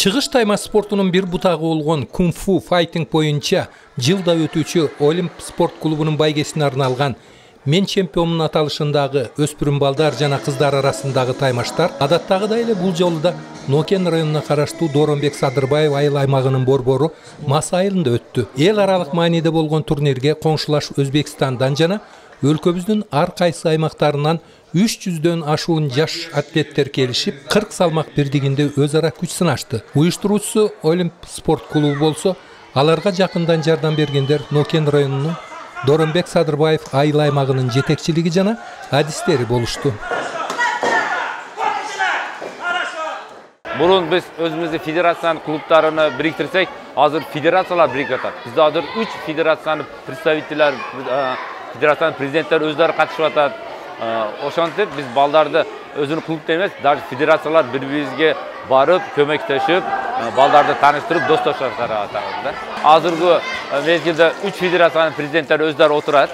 Чыгыш тайма спортунун бир бутагы болгон кунг-фу файтинг боюнча жылда өтүүчү Олимп спорт клубунун байгесине арналган «Мен чемпионмун» аталышындагы өспүрүм балдар жана кыздар арасындагы таймаштар адаттагыдай эле бул жолу да Нокен районуна караштуу Доронбек Садырбаев айыл аймагынын борбору Мас айылында өттү. Эл аралык мааниде болгон турнирге коңшулаш Өзбекстандан жана өлкөбүздүн ар кайсы аймактарынан 300дөн ашуун жаш атлеттер келишип, 40 салмак бирдигинде өз ара күч сынашты. Уюштуруучусу Олимп спорт клубу болсо, аларга жакындан жардам бергендер Нокен районунун Доронбек Садырбаев айыл аймагынын жетекчилиги жана адистери болушту. Бурун биз өзүбүздүн федерациянын клубтарыны бириктирсек, азыр федерациялар бириктип атат. Бизде азыр 3 федерациянын представителер, федерациянын президенттери өздөрү катышып атат. Ошентип биз балдарды өзүнүн клубда эмес, даже федерациялар бири-бирибизге барып, көмөктөшүп, балдарды тааныштырып, достошуп атабыз. Азыркы мезгилде 3 федерациянын президенттери өздөрү отурат,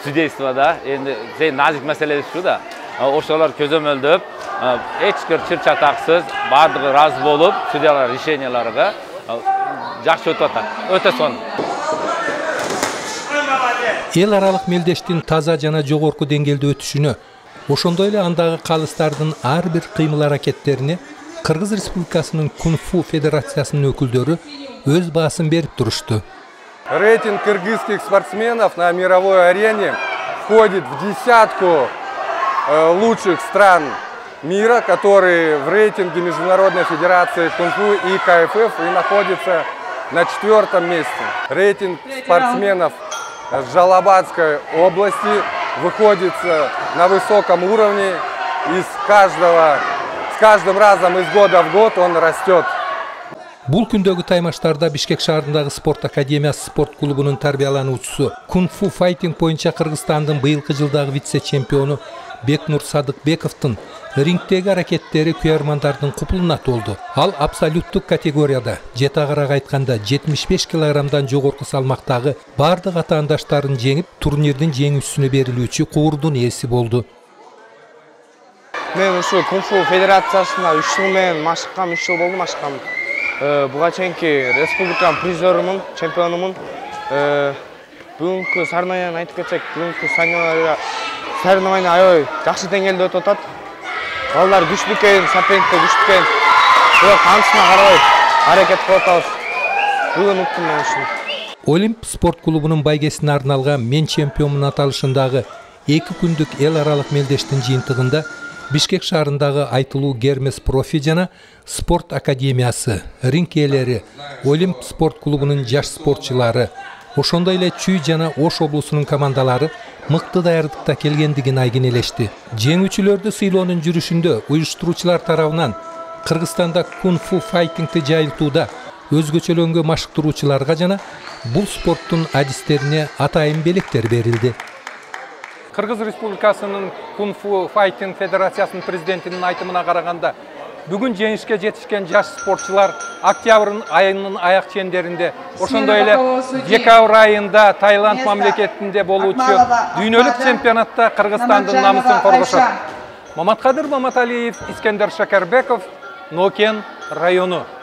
судействода. Энди назик маселе ушу да. Ошолор көзөмөлдөп, эч бир чыр-чатаксыз, бардыгы ыраазы болуп, судьялар решенияларга жакшы өтүп атат. Өтө сонун. Эл аралык мелдештин таза жана жогорку деңгээлде өтүшүнө, ошондой эле андагы калыстардын ар бир кыймыл-аракеттерине Кыргыз Республикасынын кунг-фу федерациясынын өкүлдөрү өз баасын берип турушту. Рейтинг кыргызских спортсменов на мировой арене входит в десятку лучших стран мира, которые в рейтинге Международной Федерации кунг-фу и КФФ и находится на 4-м месте. Рейтинг спортсменов Жалабадской области выходит на высоком уровне, и с каждым разом из года в год он растет. Бул күндөгү таймаштарда Бишкек шаарындагы спорт академиясы спорт клубунун тарбиялануучусу, кунг-фу файтинг боюнча Кыргызстандын быйылкы жылдагы вице-чемпиону Бекнур Садыкбековдун рингдеги аракеттери күйөрмандардын купулуна толду. Ал абсолюттук категорияда, жетагыраак айтканда 75 килограммдан жогорку салмактагы бардык атаандаштарын жеңип, турнирдин жеңүүчүсүнө берилүүчү куурдун ээси болду. Мен ушу кунг-фу федерациясына 3 жыл менен машыккам, 3 жыл болду машыккам. Буга чейинки республиканын призерумун, чемпионумун. Бүгүнкү соревнованияны айтып кетсек, бүгүнкү соревнования аябай жакшы деңгээлде өтүп атат. Балдар күчтүү экен, соперниктер күчтүү экен. Бирок анысына карабай аракет кылып атабыз. Бүгүн уктум мен ушуну. Олимп спорт клубунун байгесине арналган «Мен чемпионмун» аталышындагы 2 күндүк эл аралык мелдештин жыйынтыгында Бишкек шаарындагы айтылуу Гермес профи жана спорт академиясы, ринг ээлери, Олимп спорт клубунун жаш спортчулары, ошондой эле Чүй жана Ош облусунун командалары мыкты даярдыкта келгендигин айгинелешти. Жеңүүчүлөрдү сыйлоонун жүрүшүндө уюштуруучулар тарабынан Кыргызстанда кунг-фу файтингти жайылтууда өзгөчөлөнгө машыктыруучуларга жана бул спорттун адистерине атайын белектер берилди. Кыргыз Республикасынын кунг-фу файтинг федерациясынын президентинин айтымына караганда, бүгүн жеңишке жетишкен жаш спортчулар октябрь айынын аяк чендеринде, ошондой эле декабрь айында Таиланд мамлекетинде болуучу дүйнөлүк чемпионатта Кыргызстандын намысын коргошот. Маматкадыр Маматалиев, Искендер Шакарбеков, Нокен району.